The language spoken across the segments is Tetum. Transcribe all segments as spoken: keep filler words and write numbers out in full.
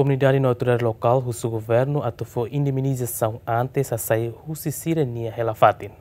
Komunidade no autoridade lokál husu governu atu fó indemnizasaun antes hasai husi sira-nia hela-fatin.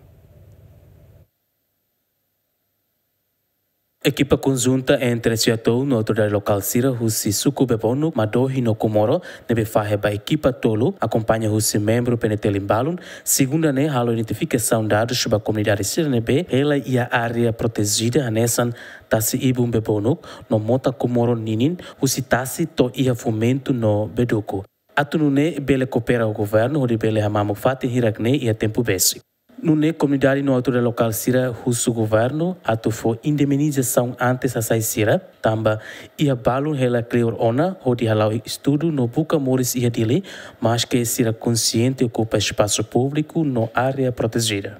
Ekipa konjunta entre SEATOU no autoridade lokál sira husi suku Bebonuk, Madohi no Comoro, ne'ebé fahe ba ekipa tolu, akompaña husi membru PNTL Imbalun, segunda ne'e halo identifikasaun dadus ba komunidade sira ne'ebé hela iha área protejida hanesan tasi ibun Bebonuk no mota Comoro ninin husi tasi to'o iha Fomento no Beduku. Atu nune'e bele koopera ho governu hodi bele hamamuk fatin hirak-ne'e iha tempu besik. Nune'e komunidade no autoridade lokál sira husu governu atu fó indemnizasaun antes hasai sira, tanba iha balun hela kleur ona hodi hala'o estudu no buka moris iha Dili, maske sira konsiente okupa espasu públiku no área protejida.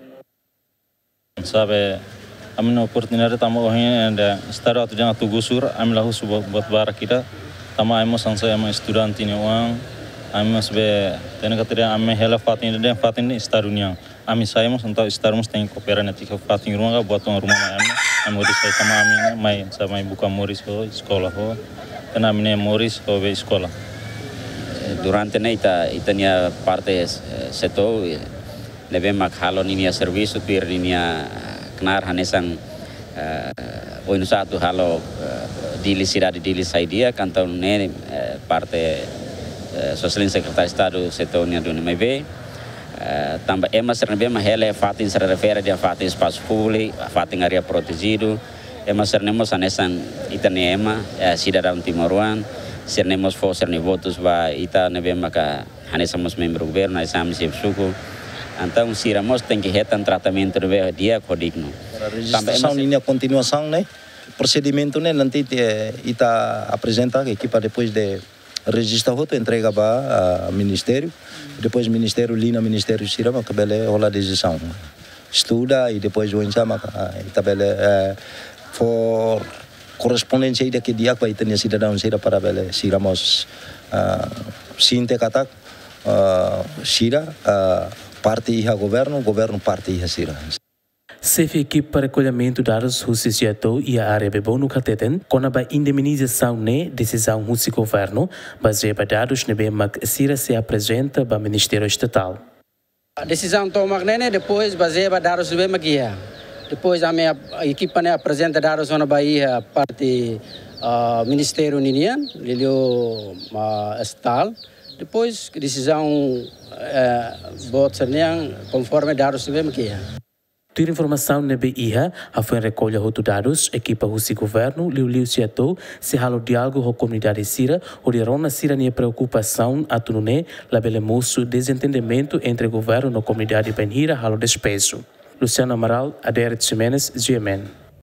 Sabe, ami-nia oportunidade tanba ohin ende estadu atu dehan atu gusur, ami la husu buat, buat barak ida, tanba ami mós hanesan ema estudante nia oan, ami mós be, hatene katak ami hela fatin ida dehan fatin ne'e estadu nian. Ami sai mós entaun estadu mós tenke koopera netik fatin ruma ka buat ruma mai ami, ami hodi sai tanba ami ne'e mai, sa mai buka moris ho eskola ho, tanba ami-nia moris ho be eskola. Durante ne'e ita, ita-nia parte, eh, SEATOU, eh, ne'ebé mak halo ninia servisu, tuir ninia knaar hanesan, eh, oinsá atu halo, eh, Dili, sidade Dili sai di'ak, entaun ne'e, eh, parte, eh, Sua Exelénsia Sekretáriu Estadu SEATOU nia duni. Maibé, eh, tanba ema sira ne'ebé mak hela fatin sira refere dehan fatin espasu públiku, fatin área protejidu, ema sira ne'e mós hanesan ita-nia ema, eh, sidadaun timoroan, sira ne'e mós fó sira-nia votus ba ita ne'ebé maka hanesan mós membru governu, hanesan ami xefe suku. Entaun sira mós tenke hetan tratamentu ne'ebé di'ak ho dignu. Para rejistrasaun ninia kontinuasaun ne'e, prosedimentu ne'e nanti, eh, ita aprezenta ke ekipa depois de rejista hotu entrega ba, ah, ministériu. Depois ministériu, liña ministériu sira mak bele hola desizaun. Estuda i depois oinsá mak, ah, ita bele, eh, fó korrespondénsia ida ke di'ak ba ita-nia sidadaun sira para bele sira mós, ah, sente katak, ah, sira, ah, parte iha governu, governu parte iha sira. Xefe ekipa rekollimentu dadus husi SEATOU iha área Bebonuk hateten, kona-ba indemnizasaun ne'e desizaun husi governu, bazeia ba dadus ne'ebé mak sira sei aprezenta ba Ministériu Estatál. Desizaun tomak ne'e ne'e depois bazeia ba dadus ne'ebé mak iha. Depois ami ap-, ekipa ne'e aprezenta dadus ona ba iha parte, ah, ministériu ninian, liuliu, ah, Estatál. Depois desizaun, eh, boot sira-nian konforme dadus ne'ebé mak iha. Tuir informasaun ne'ebé iha, hafoin rekolla hotu dadus, ekipa husi governu, liuliu SEATOU, sei halo diálogu ho komunidade sira, hodi rona sira-nia preokupasaun atu nune'e labele mosu dezentendimentu entre governu no komunidade bainhira halo despeju. Luciano Amaral, Aderet Ximenes, G M N.